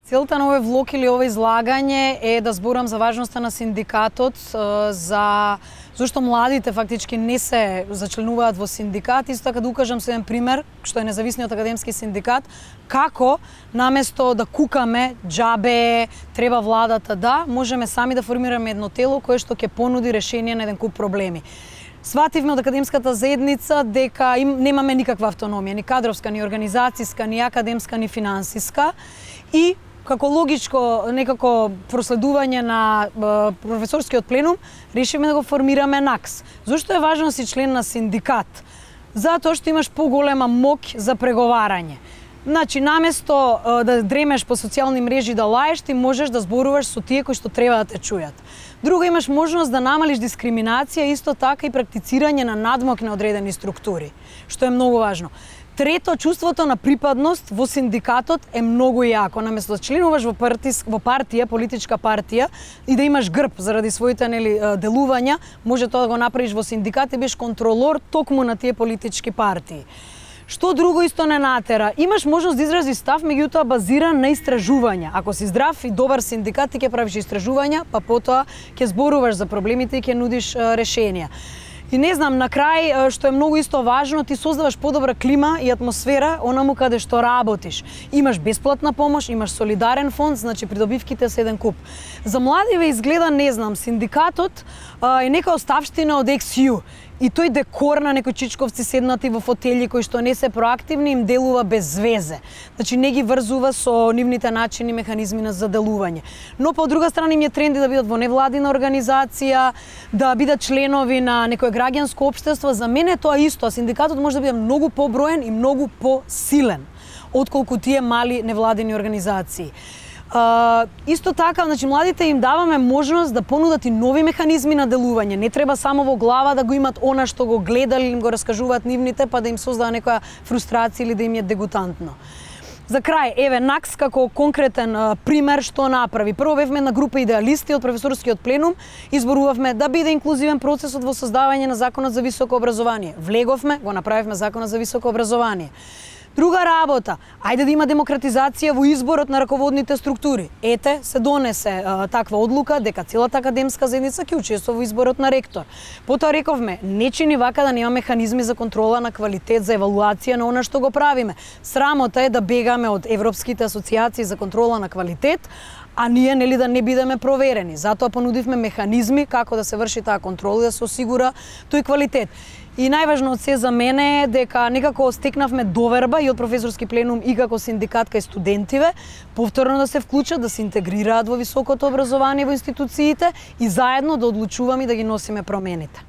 Целта на овој влог или ова излагање е да зборам за важноста на синдикатот, зашто младите фактички не се зачленуваат во синдикат, исто така да укажам се еден пример, што е независниот академски синдикат, како наместо да кукаме џабе, треба владата да, можеме сами да формираме едно тело кое што ќе понуди решение на еден куп проблеми. Свативме од академската заедница дека немаме никаква автономија, ни кадровска, ни организацијска, ни академска, ни финансиска и како логичко некако проследување на професорскиот пленум, решивме да го формираме НАКС. Зошто е важно да си член на синдикат? Затоа што имаш поголема моќ за преговарање. Значи, наместо да дремеш по социјални мрежи да лаеш, ти можеш да зборуваш со тие кои што треба да те чујат. Друго, имаш можност да намалиш дискриминација, исто така и практицирање на надмок на одредени структури, што е многу важно. Трето, чувството на припадност во синдикатот е многу јако. Наместо да членуваш во партија, политичка партија и да имаш грб заради своите делувања, може тоа да го направиш во синдикат и биш контролор токму на тие политички партии. Што друго исто не натера? Имаш можност да изразиш став, меѓутоа базиран на истражувања. Ако си здрав и добар синдикат, ти ќе правиш истражувања, па потоа ќе зборуваш за проблемите и ќе нудиш решенија. И не знам, на крај, што е многу исто важно, ти создаваш подобра клима и атмосфера онаму каде што работиш. Имаш бесплатна помош, имаш солидарен фонд, значи придобивките се еден куп. За младиве изгледа, не знам, синдикатот е нека оставштина од XU. И тој декор на некои чичковци седнати во фотели кои што не се проактивни им делува без везе. Значи не ги врзува со нивните начини и механизми за делување. Но по друга страна им е тренди да бидат во невладина организација, да бидат членови на некое граѓанско општество. За мене тоа исто, синдикатот може да биде многу поброен и многу посилен отколку тие мали невладини организации. Исто така, значи, младите им даваме можност да понудат и нови механизми на делување. Не треба само во глава да го имат она што го гледали или им го раскажуваат нивните, па да им создава некоја фрустрација или да им е дегутантно. За крај, еве, НАКС како конкретен пример што направи. Прво бевме една група идеалисти од професорскиот пленум, изборувавме да биде инклузивен процесот во создавање на Законот за високо образование. Влеговме, го направивме Законот за високо образование. Друга работа, ајде да има демократизација во изборот на раководните структури. Ете, се донесе таква одлука дека целата академска заедница ќе учествува во изборот на ректор. Потоа рековме, не чини вака да нема механизми за контрола на квалитет, за евалуација на она што го правиме. Срамота е да бегаме од европските асоциации за контрола на квалитет, а ние да не бидеме проверени. Затоа понудивме механизми како да се врши таа контрола и да се осигура тој квалитет. И најважно од се за мене е дека некако стекнавме доверба и од професорски пленум и како синдикат кај студентиве, повторно да се вклучат, да се интегрираат во високото образование во институциите и заедно да одлучуваме и да ги носиме промените.